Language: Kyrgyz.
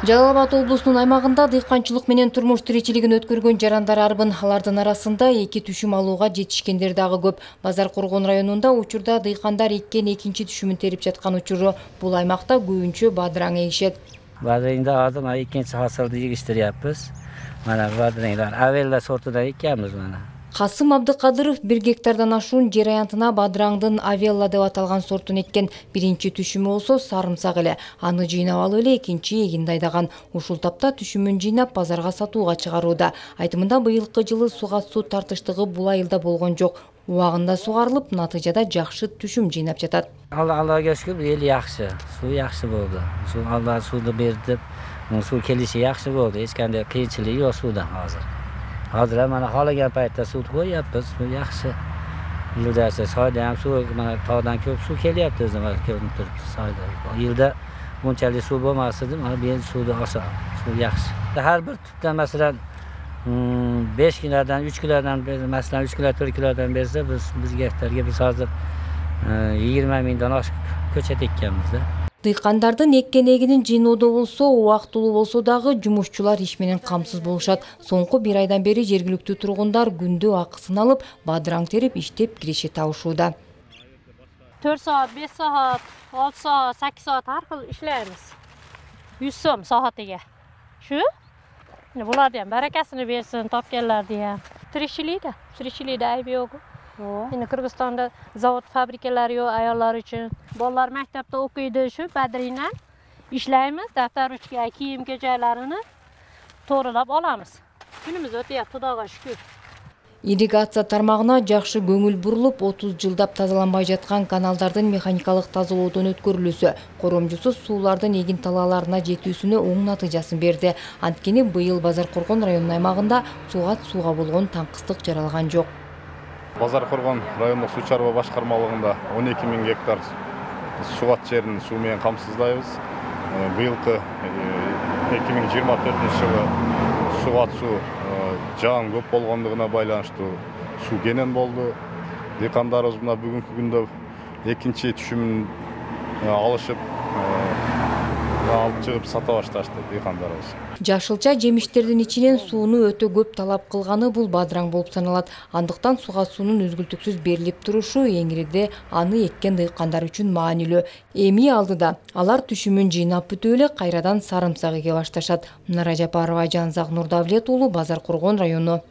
Жалал Абад облусунун аймагында дыйканчылык менен турмуш тиричилигин өткөргөн жарандар арбын. Алардын арасында эки түшүм алууга жетишкендер дагы көп. Базар Коргон районунда учурда дыйкандар эккен экинчи түшүмүн терип жаткан учуру. Бул аймакта көбүнчө бадыраң эгишет. Бадыраңда азыр экинчи фасылды егиштиряппыз. Мана бадыраңдар авелла сортунда экенбиз мана. Касым Абдыкадыров 1 гектардан ашуун жер аянтына бадыраңдын авелла деп аталган сортун эккен. Биринчи түшүмү болсо сарымсак эле. Аны жыйнап алып эле экинчи эгинди айдаган. Ушул тапта түшүмүн жыйнап базарга сатууга чыгарууда. Айтымында быйылкы жылы суга суу тартыштыгы бул айылда болгон жок. Убагында сугарылып, натыйжада жакшы түшүм жыйнап жатат. Аллага шүгүр, эл жакшы. Суу жакшы болду. Алла сууду берди. Суу келиши жакшы болду. Эч кандай кыйынчылыгы жок сууда азыр. Hazır mana halagan paytda suv qo'yapmiz, suv yaxshi. Yildasi soyda ham suv, mana tog'dan ko'p suv kelyapti o'zi mana ko'rinib turibdi soyda. Yilda bunchalik suv bo'lmasdi, mana bu yerda suvda osa, suv yaxshi. Har bir tutdan masalan 5 kilodan 3 kilodan masalan 3 kilo 4 kilodan bersa biz gektarga biz hozir 20 mingdan oshiq ko'chat ekkanmiz-da. Дыйкандардын эккен эгинин жыйноодо болсо, убактылуу болсо дагы жумушчулар иш менен камсыз болушат. Соңку 1 айдан бери жергиликтүү тургундар күндө акысын алып, бадыраң терип иштеп киреше табышууда. 4 saat, 5 saat, 6 saat, 8 saat har xil ishlaymiz. 100 so'm soatiga. Shu? Bularga ham barakasini bersin, topganlarga ham. Tirikchilikda aybi yo'q. Yine Kırgızistan'da zavod fabrikalar yo'q ayollar uchun. Bolalar maktabda o'qiydi, shu badringdan ishlaymiz, daftar ruchka, kiyim-kechalarini to'g'rilab olamiz. Kunimiz o'tyapti, Xudoga shukr. Ирригация тармагына жакшы көңүл бурулуп, 30 жылдап тазаланбай жаткан каналдардын механикалык тазалоодон өткөрүлүүсү, коромжусуз суулардын эгин талааларына жетүүсүнө оң натыйжасын берди. Анткени быйыл Базар Коргон районунун аймагында сууга болгон таңкыстык жаралган жок. Базар Коргон райондук суу чарба башкармалыгында 12 000 гектар сугат жерин суу менен камсыздайбыз. Быйылкы 2024 жылы сугат суу жаан көп болгондугуна байланыштуу суу кенен болду. Дыйкандарыбыз мына бүгүнкү күндө экинчи түшүмүн алышып, алып чыгып сата башташты дыйкандарыбыз. Жашылча жемиштердин ичинен сууну өтө көп талап кылганы бул бадыраң болуп саналат. Андыктан суга суунун үзгүлтүксүз берилип турушу эңириде аны эккен дыйкандар үчүн маанилүү. Эми алдыда алар түшүмүн жыйнап бүтүп эле кайрадан сарымсак эге башташат. Нара Жапарова, Жанзак Нурдавлет уулу, Базар Коргон району.